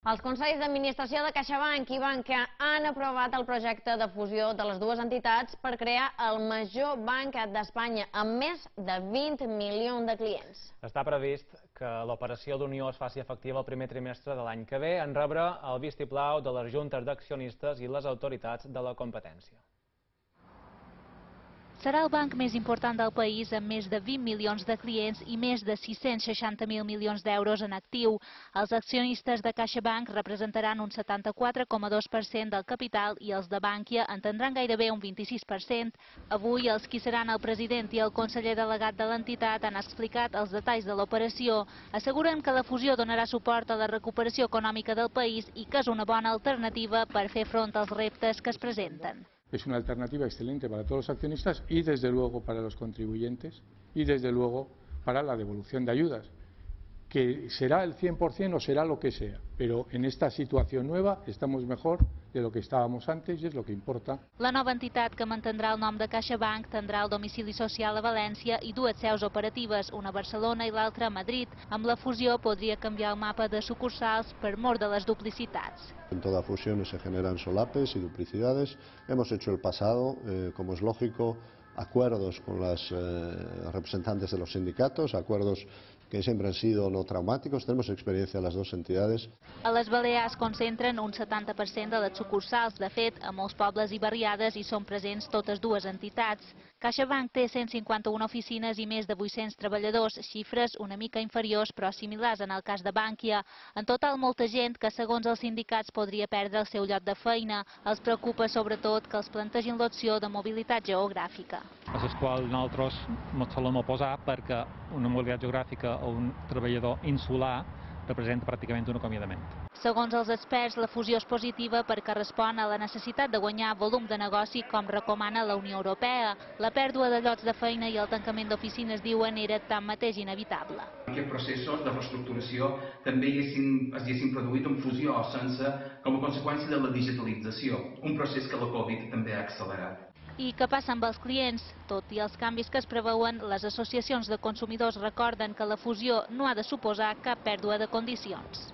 Els consells d'administració de CaixaBank i Bankia han aprovat el projecte de fusió de les dues entitats per crear el major banc d'Espanya, amb més de 20 milions de clients. Està previst que l'operació d'unió es faci efectiva el primer trimestre de l'any que ve, en rebre el vistiplau de les juntes d'accionistes i les autoritats de la competència. Serà el banc més important del país amb més de 20 milions de clients i més de 660.000 milions d'euros en actiu. Els accionistes de CaixaBank representaran un 74,2% del capital i els de Bankia en tindran gairebé un 26%. Avui els qui seran el president i el conseller delegat de l'entitat han explicat els detalls de l'operació. Asseguren que la fusió donarà suport a la recuperació econòmica del país i que és una bona alternativa per fer front als reptes que es presenten. Es una alternativa excelente para todos los accionistas y desde luego para los contribuyentes y desde luego para la devolución de ayudas, que será el 100% o será lo que sea, pero en esta situación nueva estamos mejor de lo que estábamos antes y es lo que importa. La nova entitat, que mantindrà el nom de CaixaBank, tindrà el domicili social a València i dues seus operatives, una a Barcelona i l'altra a Madrid. Amb la fusió podria canviar el mapa de sucursals per mor de les duplicitats. En toda fusión se generan solapes y duplicidades. Hemos hecho el pasado, como es lógico, acuerdos con las representantes de los sindicatos, acuerdos que siempre han sido no traumáticos. Tenemos experiencia en las dos entidades. A les Balears concentren un 70% de les sucursals. De fet, a molts pobles i barriades hi són presents totes dues entitats. CaixaBank té 151 oficines i més de 800 treballadors, xifres una mica inferiors però similars en el cas de Bankia. En total, molta gent que, segons els sindicats, podria perdre el seu lloc de feina. Els preocupa sobretot que els plantegin l'opció de mobilitat geogràfica. A les quals nosaltres ens solem oposar perquè una mobilitat geogràfica o un treballador insular representa pràcticament un acomiadament. Segons els experts, la fusió és positiva perquè respon a la necessitat de guanyar volum de negoci com recomana la Unió Europea. La pèrdua de llocs de feina i el tancament d'oficines, diuen, era tanmateix inevitable. Aquests processos de reestructuració també es haguessin produït en fusió sense com a conseqüència de la digitalització, un procés que la Covid també ha accelerat. I què passa amb els clients? Tot i els canvis que es preveuen, les associacions de consumidors recorden que la fusió no ha de suposar cap pèrdua de condicions.